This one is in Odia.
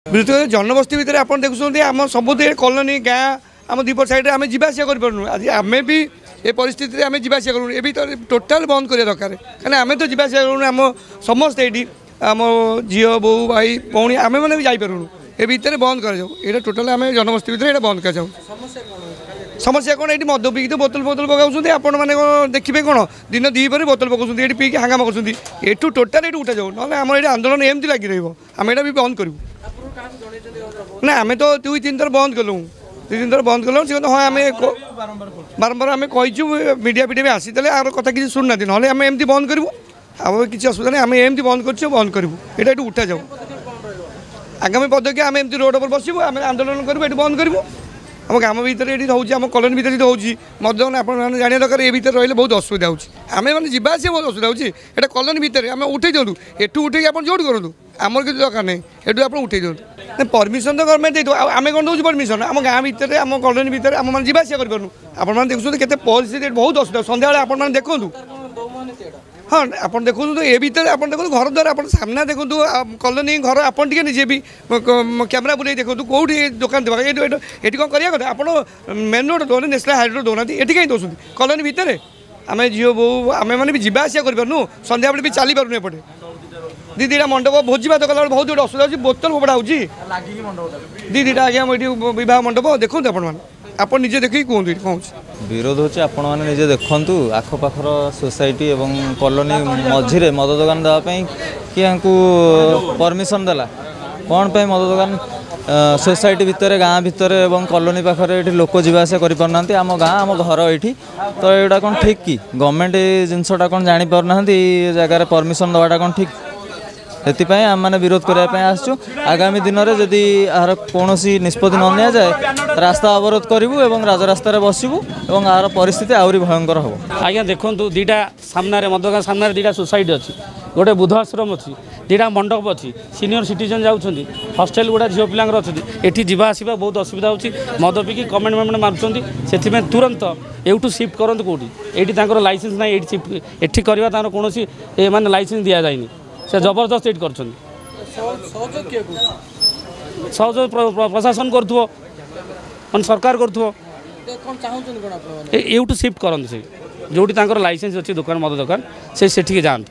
ବିଶେଷ କରି ଜନବସ୍ତି ଭିତରେ ଆପଣ ଦେଖୁଛନ୍ତି, ଆମ ସବୁ କଲୋନୀ ଗାଁ ଆମ ଦୁଇପଟ ସାଇଡ଼ରେ ଆମେ ଯିବା ଆସିବା କରିପାରୁନୁ। ଆଜି ଆମେ ବି ଏ ପରିସ୍ଥିତିରେ ଆମେ ଯିବା ଆସିବା କରୁନୁ। ଏ ବି ତ ଟୋଟାଲ୍ ବନ୍ଦ କରିବା ଦରକାର, କାହିଁକିନା ଆମେ ତ ଯିବା ଆସିବା କରୁନୁ। ଆମ ସମସ୍ତେ ଏଇଠି ଆମ ଝିଅ, ବୋଉ, ଭାଇ, ଭଉଣୀ ଆମେମାନେ ବି ଯାଇପାରୁନୁ। ଏ ଭିତରେ ବନ୍ଦ କରାଯାଉ ଏଇଟା ଟୋଟାଲ୍। ଆମେ ଜନବସ୍ତି ଭିତରେ ଏଇଟା ବନ୍ଦ କରାଯାଉ। ସମସ୍ୟା କ'ଣ? ଏଇଠି ମଦ ପିଇକି ତ ବୋତଲ ଫୋତଲ ପକାଉଛନ୍ତି। ଆପଣମାନେ କ'ଣ ଦେଖିବେ? କ'ଣ ଦିନ ଦ୍ୱିପହରେ ବୋତଲ ପକାଉଛନ୍ତି ଏଠି, ପିଇକି ହାଙ୍ଗାମା କରୁଛନ୍ତି। ଏଠୁ ଟୋଟାଲ୍ ଏଠୁ ଉଠାଯାଉ, ନହେଲେ ଆମର ଏଇଠି ଆନ୍ଦୋଳନ ଏମିତି ଲାଗି ରହିବ। ଆମେ ଏଇଟା ବି ବନ୍ଦ କରିବୁ ନା। ଆମେ ତ 2-3 ଥର ବନ୍ଦ କଲୁ, 2-3 ଥର ବନ୍ଦ କଲୁ। ସେ ହଁ, ଆମେ ବାରମ୍ବାର ଆମେ କହିଛୁ, ମିଡ଼ିଆ ଫିଡ଼ିଆ ବି ଆସିଥିଲେ, ଆର କଥା କିଛି ଶୁଣୁନାହାନ୍ତି। ନହେଲେ ଆମେ ଏମିତି ବନ୍ଦ କରିବୁ, ଆଉ କିଛି ଅସୁବିଧା ନାହିଁ। ଆମେ ଏମିତି ବନ୍ଦ କରୁଛୁ, ବନ୍ଦ କରିବୁ। ଏଇଟା ଏଠୁ ଉଠାଯାଉ। ଆଗାମୀ ପଦକ୍ଷେପ, ଆମେ ଏମିତି ରୋଡ଼ ଉପରେ ବସିବୁ, ଆମେ ଆନ୍ଦୋଳନ କରିବୁ, ଏଠି ବନ୍ଦ କରିବୁ। ଆମ ଗ୍ରାମ ଭିତରେ ଏଠି ହେଉଛି, ଆମ କଲୋନୀ ଭିତରେ ଏଠି ହେଉଛି ମଦ। ଆପଣମାନେ ଜାଣିବା ଦରକାର, ଏ ଭିତରେ ରହିଲେ ବହୁତ ଅସୁବିଧା ହେଉଛି। ଆମେ ମାନେ ଯିବା ଆସିବା ବହୁତ ଅସୁବିଧା ହେଉଛି। ଏଇଟା କଲୋନୀ ଭିତରେ ଆମେ ଉଠେଇ ଦିଅନ୍ତୁ। ଏଠୁ ଉଠେଇକି ଆପଣ ଯେଉଁଠି କରନ୍ତୁ, ଆମର କିଛି ଦରକାର ନାହିଁ। ଏଠୁ ଆପଣ ଉଠେଇ ଦିଅନ୍ତୁ। ପରମିସନ୍ ତ ଗଭର୍ଣ୍ଣମେଣ୍ଟ ଦେଇଥିବ, ଆଉ ଆମେ କ'ଣ ଦେଉଛୁ ପରମିସନ୍? ଆମ ଗାଁ ଭିତରେ, ଆମ କଲୋନୀ ଭିତରେ ଆମମାନେ ଯିବା ଆସିବା କରିପାରୁନୁ। ଆପଣମାନେ ଦେଖୁଛନ୍ତି କେତେ ପରିସ୍ଥିତି, ବହୁତ ଅସୁବିଧା। ସନ୍ଧ୍ୟାବେଳେ ଆପଣମାନେ ଦେଖନ୍ତୁ। ହଁ, ଆପଣ ଦେଖନ୍ତୁ ଏ ଭିତରେ, ଆପଣ ଦେଖନ୍ତୁ ଘର ଦ୍ୱାରା, ଆପଣ ସାମ୍ନା ଦେଖନ୍ତୁ, କଲୋନୀ ଘର। ଆପଣ ଟିକେ ନିଜେ ବି କ୍ୟାମେରା ବୁଲେଇ ଦେଖନ୍ତୁ କେଉଁଠି ଦୋକାନ ଦେବା। ଏଇଠି ଏଠି କ'ଣ କରିବା କଥା? ଆପଣ ମେନ୍ ରୋଡ଼ ଦେଉନାହାନ୍ତି, ନ୍ୟାସନାଲ୍ ହାଇୱେ ରୋଡ଼ ଦେଉନାହାନ୍ତି, ଏଠି କାହିଁ ଦେଉଛନ୍ତି କଲୋନୀ ଭିତରେ? ଆମେ ଝିଅ, ବୋଉ ଆମେମାନେ ବି ଯିବା ଆସିବା କରିପାରୁନୁ, ସନ୍ଧ୍ୟାବେଳେ ବି ଚାଲିପାରୁନୁ। ଏପଟେ 2 ଦୁଇଟା ମଣ୍ଡପ, ଭୋଜି ଭାତ କଲାବେଳେ ବହୁତ ଗୋଟେ ଅସୁବିଧା ହେଉଛି, ବୋତଲ ଫୋପଡ଼ା ହେଉଛି। 2 ଦୁଇଟା ଆଜ୍ଞା ଏଠି ବିବାହ ମଣ୍ଡପ ଦେଖନ୍ତୁ ଆପଣମାନେ, ଆପଣ ନିଜେ ଦେଖିକି କୁହନ୍ତୁ ଏଠି କ'ଣ ହେଉଛି। ବିରୋଧ ହେଉଛି, ଆପଣମାନେ ନିଜେ ଦେଖନ୍ତୁ, ଆଖପାଖର ସୋସାଇଟି ଏବଂ କଲୋନୀ ମଝିରେ ମଦ ଦୋକାନ ଦେବା ପାଇଁ କିଏ ୟାଙ୍କୁ ପରମିସନ୍ ଦେଲା? କ'ଣ ପାଇଁ ମଦ ଦୋକାନ ସୋସାଇଟି ଭିତରେ, ଗାଁ ଭିତରେ ଏବଂ କଲୋନୀ ପାଖରେ? ଏଠି ଲୋକ ଯିବା ଆସିବା କରିପାରୁନାହାନ୍ତି। ଆମ ଗାଁ, ଆମ ଘର ଏଇଠି ତ ଏଇଟା କ'ଣ ଠିକ୍ କି? ଗଭର୍ଣ୍ଣମେଣ୍ଟ ଏ ଜିନିଷଟା କ'ଣ ଜାଣିପାରୁନାହାନ୍ତି? ଏଇ ଜାଗାରେ ପରମିସନ୍ ଦେବାଟା କ'ଣ ଠିକ୍? ସେଥିପାଇଁ ଆମେମାନେ ବିରୋଧ କରିବା ପାଇଁ ଆସିଛୁ। ଆଗାମୀ ଦିନରେ ଯଦି ଏହାର କୌଣସି ନିଷ୍ପତ୍ତି ନ ନିଆଯାଏ, ରାସ୍ତା ଅବରୋଧ କରିବୁ ଏବଂ ରାଜରାସ୍ତାରେ ବସିବୁ ଏବଂ ଏହାର ପରିସ୍ଥିତି ଆହୁରି ଭୟଙ୍କର ହେବ। ଆଜ୍ଞା ଦେଖନ୍ତୁ, 2ଟା ସାମ୍ନାରେ ମଦ ଦୋକାନ ସାମ୍ନାରେ 2ଟା ସୋସାଇଟି ଅଛି, ଗୋଟେ ବୁଦ୍ଧ ଆଶ୍ରମ ଅଛି, 2ଟା ମଣ୍ଡପ ଅଛି, ସିନିୟର ସିଟିଜେନ୍ ଯାଉଛନ୍ତି, ହଷ୍ଟେଲ ଗୁଡ଼ା ଝିଅ ପିଲାଙ୍କର ଅଛନ୍ତି। ଏଠି ଯିବା ଆସିବା ବହୁତ ଅସୁବିଧା ହେଉଛି। ମଦ ପିଇକି କମେଣ୍ଟ ମେଣ୍ଟ ମାରୁଛନ୍ତି। ସେଥିପାଇଁ ତୁରନ୍ତ ଏଇଠୁ ସିଫ୍ଟ କରନ୍ତୁ କେଉଁଠି। ଏଇଠି ତାଙ୍କର ଲାଇସେନ୍ସ ନାହିଁ। ଏଇଠି ସିଫ୍ଟ ଏଠି କରିବା ତାଙ୍କର କୌଣସି ମାନେ ଲାଇସେନ୍ସ ଦିଆଯାଇନି। ସେ ଜବରଦସ୍ତ ଏଇଠି କରୁଛନ୍ତି। ସହଯୋଗ ପ୍ରଶାସନ କରୁଥିବ, ମାନେ ସରକାର କରୁଥିବ। ଏଇଠୁ ସିଫ୍ଟ କରନ୍ତୁ। ସେ ଯେଉଁଠି ତାଙ୍କର ଲାଇସେନ୍ସ ଅଛି ଦୋକାନ, ମଦ ଦୋକାନ, ସେ ସେଠିକି ଯାଆନ୍ତୁ।